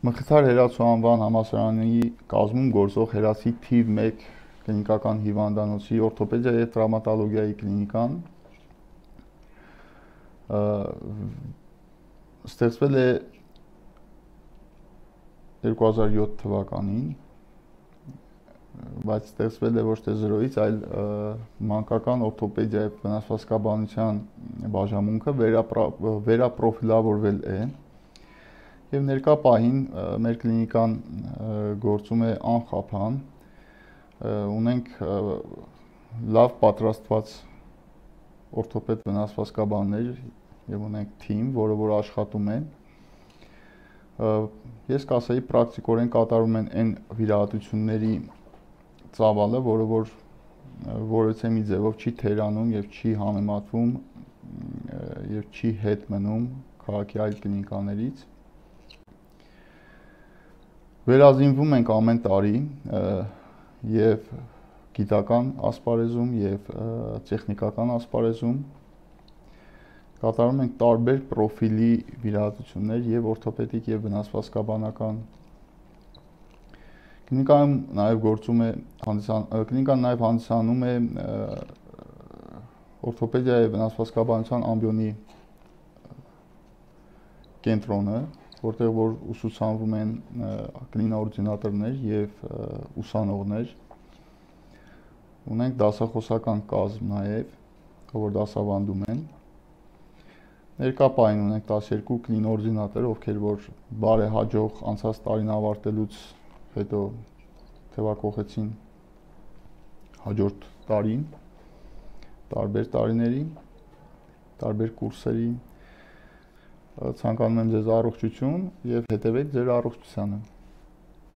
Մխիթար Հերացու անվան համալսարանի կազմում գործող Հերացի թիվ 1 կլինիկական հիվանդանոցի օրթոպեդիա և տրավմատոլոգիայի կլինիկան ստեղծվել է 2007 թվականին, բայց ստեղծվել է ոչ թե զրոյից, այլ մանկական օրթոպեդիա և վնասվածքաբանության բաժանմունքը վերապրոֆիլավորվել է և ներկա պահին մեր կլինիկան գործում է անխափան, ունենք լավ պատրաստված օրթոպեդ վնասվածքաբաններ և ունենք թիմ, որը որ աշխատում է։ Ես կասեի պրակտիկորեն կատարում են այն վիրահատությունների ծավալը, որը որ որևէ մի ձևով չի թերանում և չի համեմատվում և չի հետ մնում քաղաքի այլ կլինիկաներից։ Վերազինվում ենք ամեն տարի և գիտական ասպարեզում և տեխնիկական ասպարեզում, կատարում ենք տարբեր պրոֆիլի վիրահատություններ և օրթոպեդիկ և վնասվածքաբանական։ Կլինիկան նաև հանդիսանում է օրթոպեդիա և վնասվածքաբանության ամբիոնի կենտրոնը, որտեղ որ ուսուցանվում են կլինաորդինատորներ և ուսանողներ։ Ունենք դասախոսական կազմ նաև, որ դասավանդում են։ Ներկա պահին ունենք 12 կլինաորդինատոր, ովքեր որ բարեհաջող անցած տարին ավարտելուց հետո թևակողեցին հաջորդ տարին, տարբեր տարիների, տարբեր կուրսերի։ Ցանկանում եմ ձեզ առողջություն և հետևեք ձեր առողջությանը։